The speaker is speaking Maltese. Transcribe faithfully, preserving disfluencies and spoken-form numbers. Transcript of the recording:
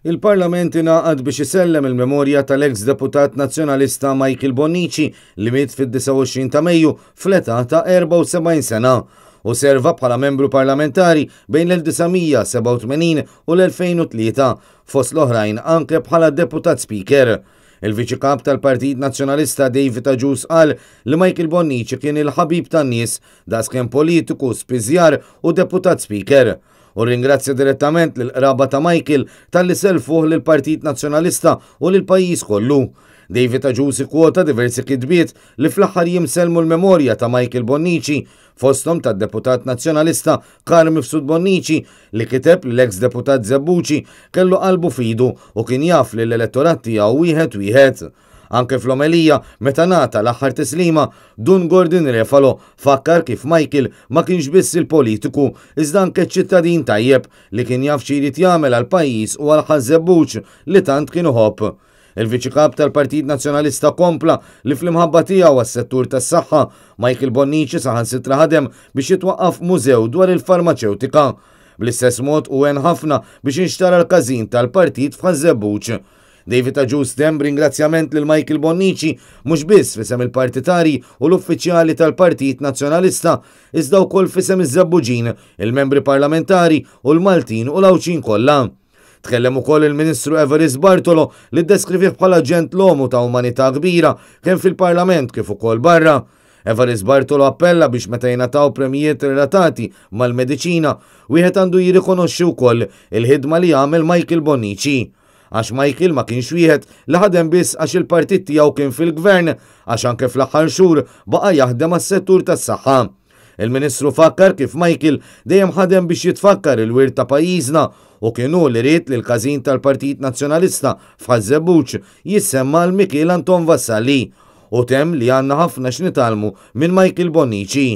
Il-Parlament ingħaqad biex isellem il-memorja tal-ex deputat nazzjonalista Michael Bonnici li miet fid-disgħa u għoxrin ta' Mejju fl-età ta' erbgħa u sebgħin sena u serva bħala membru parlamentari bejn l-elf disa' mija sebgħa u tmenin u l-elfejn u tlieta, fost l-oħrajn anke bħala deputat speaker. Il-Viċi Kap tal-Partit Nazzjonalista David Agius qal li Michael Bonnici kien il-ħabib tan-nies daqskemm politiku, spiżjar u deputat speaker. U ringrazzja direttament lill-qraba ta' Michael talli selfuh lill-Partit Nazzjonalista u lill-pajjiż kollu. David Agius ikkwota diversi kitbiet li fl-aħħar jiem sellmu l-memorja ta' Michael Bonnici, fosthom tad-deputat nazzjonalista Carm Mifsud Bonnici li kiteb li l-ex deputat Żebbuġi kellu qalbu fidu u kien jaf li l-elettorat tiegħu wieħed wieħed. Anke fl-omelija, meta ngħata l-aħħar tislima, Dun Gordon Refalo fakkar kif Michael ma kienx biss il-politiku, iżda anke ċittadin tajjeb li kien jaf xi jrid jagħmel għal pajjiż u għal Ħaż-Żebbuġ li tant kien iħobb. Il-Viċi Kap tal-Partit Nazzjonalista kompla li fl-imħabba tiegħu għas-settur tas-saħħa, Michael Bonnici saħansitra ħadem biex jitwaqqaf mużew dwar il-farmaċewtika. Bl-istess mod u għen ħafna biex inxtara l-każin tal-partit f'Ħaż-Żebbuġ. David Agius temm ringrazzjament lil Michael Bonnici mhux biss f'isem il-partitari u l-uffiċjali tal-Partit Nazzjonalista, iżda wkoll f'isem iż-Żebbuġin, il-membri parlamentari u l-Maltin u l-Għawdxin kollha. Tkellem ukoll il-Ministru Evarist Bartolo li ddeskrivih bħala ġentlomu ta' umanità kbira kemm fil-Parlament kif ukoll barra. Evarist Bartolo appella biex meta jingħataw premijiet relatati mal-mediċina, wieħed għandu jirrikonoxxi wkoll il-ħidma li għamel Michael Bonnici. Għax Michael ma kienx wieħed li ħadem biss għax il-partit tiegħu kien fil-gvern, għax anke fl-aħħar xhur baqa' jaħdem għas-settur tas-saħħa. Il-Ministru fakkar kif Michael dejjem ħadem biex jitfakkar il-wirt ta' pajjiżna u kien hu li ried li l-każin tal-Partit Nazzjonalista f'Ħaż-Żebbuġ jissemma l Mikiel Anton Vassalli u temm li għandna ħafna x'nitgħallmu minn Michael Bonnici.